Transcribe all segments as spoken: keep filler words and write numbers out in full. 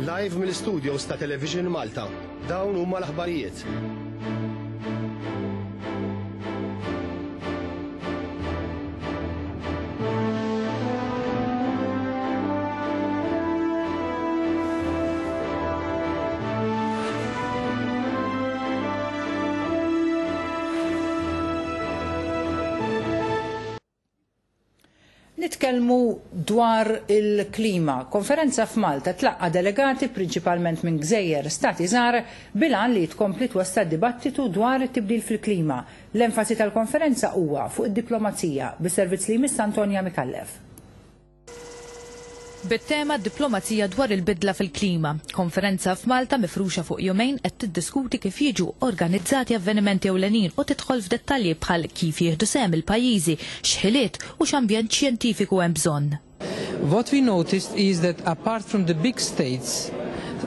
Live mill-studios ta' Television Malta. Dawn huma l-aħbarijiet. Nitkellmu dwar il-klima. Konferenza f'Malta tlaqqa delegati prinċipalment minn gżejjer stati żgħar bil-għan li tkompli twessa' dibattitu dwar it-tibdil fil-klima. L-enfasi tal-konferenza huwa fuq id-diplomazija bis-servizz li jmiss Antonia Micallef. Bit-tema diplomazija dwar il-bidla fil-klima, konferenza f'Malta mifruxa fuq jumejn qed tiddiskuti kif jiġu organizzati avvenimenti ewlenin u tidħol f'dettalji bħal kif jieħdu sehem il-pajjiżi, x'ħiliet u x'ambjent xjentifiku hemm bżonn. What we noticed is that apart from the big states,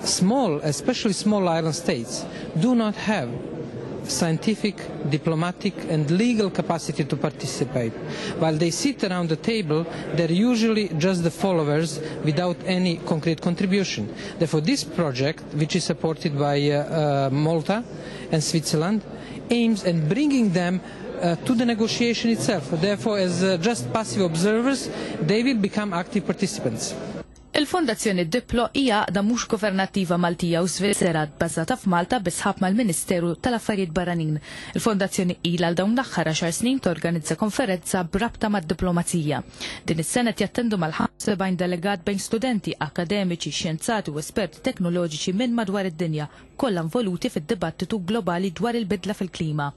small, especially small island states, do not have scientific, diplomatic and legal capacity to participate. While they sit around the table, they're usually just the followers without any concrete contribution. Therefore, this project, which is supported by uh, uh, Malta and Switzerland, aims at bringing them uh, to the negotiation itself. Therefore, as uh, just passive observers, they will become active participants. Il-Fondazzjoni Diplo hija għaqda mhux governattiva Maltija u Svizzera bbażata f'Malta bi sħab mal-Ministeru tal-Affarijiet Barranin. Il-Fondazzjoni ilha għal dawn l-aħħar għaxar snin torganizza konferenza b'rabta mad-diplomazija. Din is-sena jattendu mal-ħamsa u sebgħin delegat bejn studenti, akademiċi, xjenzati u esperti teknoloġiċi minn madwar id-dinja, kollha involuti fid-dibattitu globali dwar il-bidla fil-klima.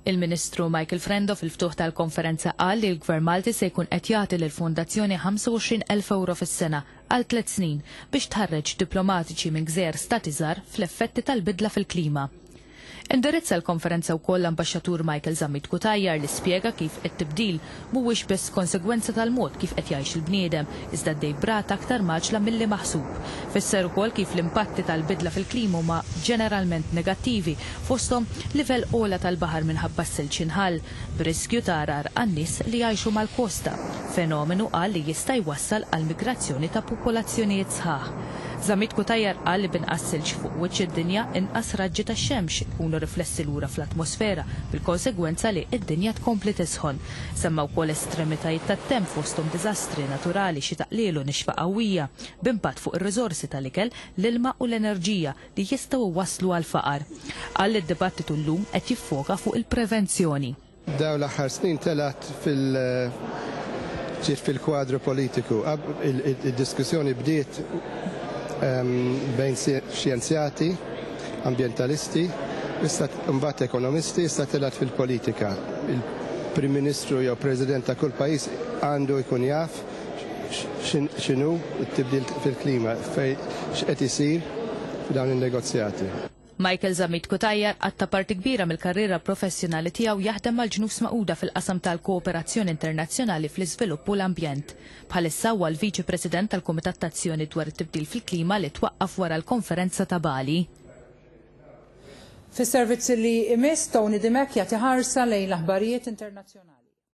Il-Ministru Michael Frendo fil-ftuħ tal-konferenza qal li l-Gvern Malti se jkun qed jagħti lill-Fondazzjoni ħamsa u għoxrin elf euro fis-sena għal tliet snin biex tħarreġ diplomatiċi minn gżejjer stati żgħar fl-effetti tal-bidla fil-klima. Indirizza l-konferenza wkoll l-Ambaxxatur Michael Zammit Cutajar li spjega kif it-tibdil mhuwiex biss konsegwenza tal-mod kif qed jgħix il-bniedem, iżda għaddej b'rata aktar mgħaġġla milli maħsub. Fisser ukoll kif l-impatti tal-bidla fil-klima huma ġeneralment negattivi, fosthom livell ogħla tal-baħar minħabba s-silġ inħall, b'riskju ta' għargħar għan-nies li jgħixu mal-kosta, fenomenu qal li jista' jwassal għal migrazzjoni ta' popolazzjonijiet sħaħ. Zammit Cutajar qal li b'inqas silġ fuq wiċċ id-dinja, inqas raġġi tax-xemx ikunu riflessi lura fl-atmosfera, bil-konsegwenza li id-dinja tkompli tisħon. Semma wkoll estremitajiet tat-temp, fosthom diżastri naturali, xita qliel u nixfa qawwija, b'impatt fuq ir-riżorsi tal-ikel, l-ilma u l-enerġija li jistgħu waslu għal faqar. Qal li d-dibattitu llum qed jiffoka fuq il-prevenzjoni. Dawn l-aħħar snin telat fil- ġiet fil-kwadru politiku. Il-diskussjoni bdiet bejn xjenzjati, ambientalisti, issa mbagħad ekonomisti, issa telat fil-politika. Il-Prim Ministru jew President ta' kull pajjiż għandu jkun jaf x'inhu t-tibdil fil-klima, fej x'qed isir f'dawn in-negozjati. Michael Zammit Cutajar qatta' parti kbira mill-karriera professjonali tiegħu jaħdem mal-Ġnus Magħquda fil-qasam tal-kooperazzjoni internazzjonali fl-iżvilupp u l-ambjent. Bħalissa huwa l-Viċi President tal-Kumitat Tazzjoni dwar it-tibdil fil-klima li twaqqaf wara l-konferenza ta' Bali. Fis-servizzi li imiss, Tony Dimech jagħti ħarsa lejn l-aħbarijiet internazzjonali.